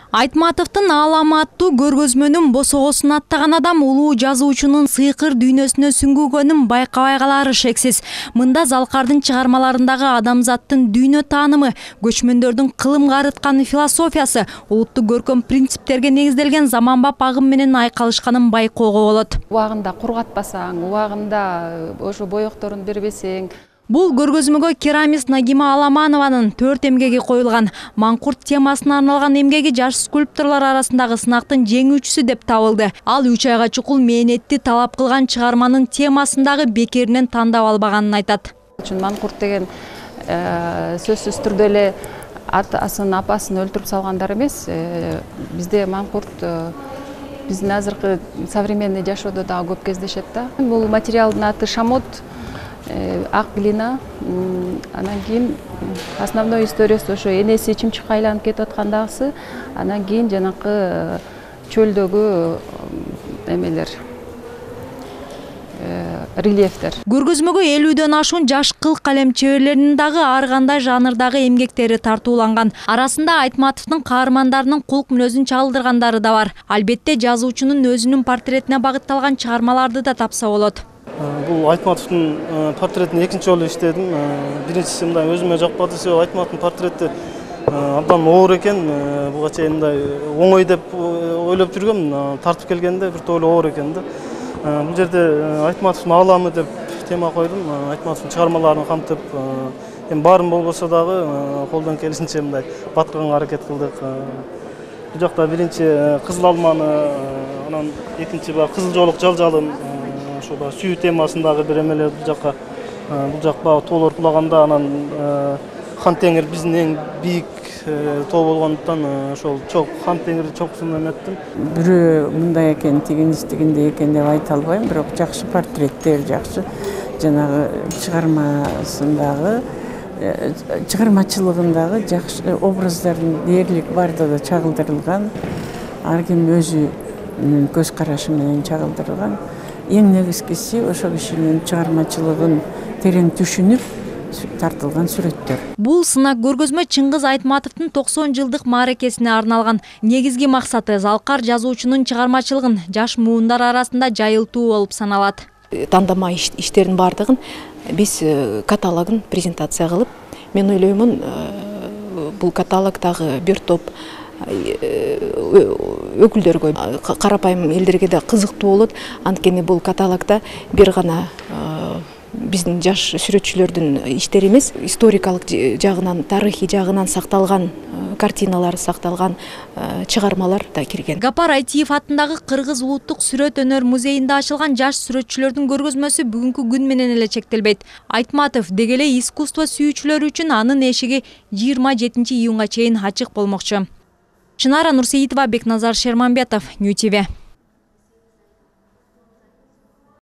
Айтматовдун Аалама аттуу көргөзмөнүн босогосун аттаган адам улуу жазуучунун сыйкыр дүйнөсүнө сүңгүгөнүн байкабай калары шексиз. Мында Залкардын чыгармаларындагы адамзаттын дүйнө таанымы, көчмөндөрдүн кылымга арыткан философиясы, улуттук көркөм принциптерге негизделген заманбап агым менен айкалышканын байкоого болот. Убагында кургатпасаң, убагында ошо боекторун бербесең. Бул көргөзмөгө керамист Нагима Аламанованын 4 эмгеги коюлган. Маңкурт темасына арналган эмгеги жаш скульпторлор арасындагы сынактын жеңүүчүсү деп табылды. Ал 3 айга чукул мээнетти талап кылган чыгарманын темасындагы бекеринен тандап албаганын айтат. Маңкурт деген сөзсүз түрдө эле атасын, апасын өлтүрүп салгандар эмес. Бизде маңкурт биздин азыркы современный жашоодо дагы көп кездешет да. Бул материалдын аты шамот. Ак глина, анан кийин основной историясы ошо энеси чымчыкка айланып кетип аткандагысы, анан кийин жанакы чөлдөгү эмелер, рельефтер. Көргөзмөгө 50дөн ашуун жаш кыл калем чеберлеринин дагы ар кандай жанрдагы эмгектери тартууланган. Арасында Айтматовдун каармандарынын кулк мүнөзүн чагылдыргандары да бар. Албетте жазуучунун өзүнүн портретине багытталган чыгармаларды да тапса болот. Бул Айтматовдун портретин экинчи жолу иштедим. Биринчиси мындай өзүмө жакпады. Себеби Айтматовдун портрети абдан оор экен. Буга чейин мындай оңой деп ойлоп жүргөм. Тартып келгенде бир тоолу оор экен да. Бул жерде Айтматовдун ааламы деп тема койдум. Айтматовдун чыгармаларын камтып, эми баарын болбосо дагы колдон келишинче мындай батканга аракет кылдык. Бул жакта биринчи кызыл алманы, анан экинчи баягы кызыл жоолук жалжалын, ошо сүйүү темасындагы бир эмелер бул жак баягы тоолор кулаганда, анан Хан Теңир биздин эң бийик тоо болгондуктан ошол Хан Теңир чокусун эметтим. Бирөө мындай экен, тигиндей экен деп айта албайм, бирок жакшы портреттер, жакшы жанагы чыгармасындагы чыгармачылыгындагы жакшы образдардын дээрлик баардыгы чагылдырылган, ар ким өзүнүн көз карашы менен чагылдырылган. Эң негизгиси ошо кишинин чыгармачылыгын терең түшүнүп тартылган сүрөттөр. Бул сынак көргөзмө Чыңгыз Айтматовдун 90 жылдык мааракесине арналган. Негизги максаты Залкар жазуучунун чыгармачылыгын жаш муундар арасында жайылтуу болуп саналат. Тандама иштердин бардыгын биз каталогун презентация кылып, мен ойлоймун, бул каталогдагы бир топ өкүлдөргө, карапайым элдерге да кызыктуу болот. Анткени бул каталогда бир гана биздин жаш сүрөтчүлөрдүн иштери эмес, историкалык жагынан, тарыхый жагынан сакталган картиналар, сакталган чыгармалар да кирген. Гапар Айтиев атындагы Кыргыз улуттук сүрөт өнөр музейинде ачылган жаш сүрөтчүлөрдүн көргөзмөсү бүгүнкү күн менен эле чектелбейт. Айтматов деги эле искусство сүйүүчүлөр үчүн анын эшиги 27 июнга чейин ачык болмокчу. Чынара Нурсеитова, Бекназар Шерманбетов, Нью ТВ.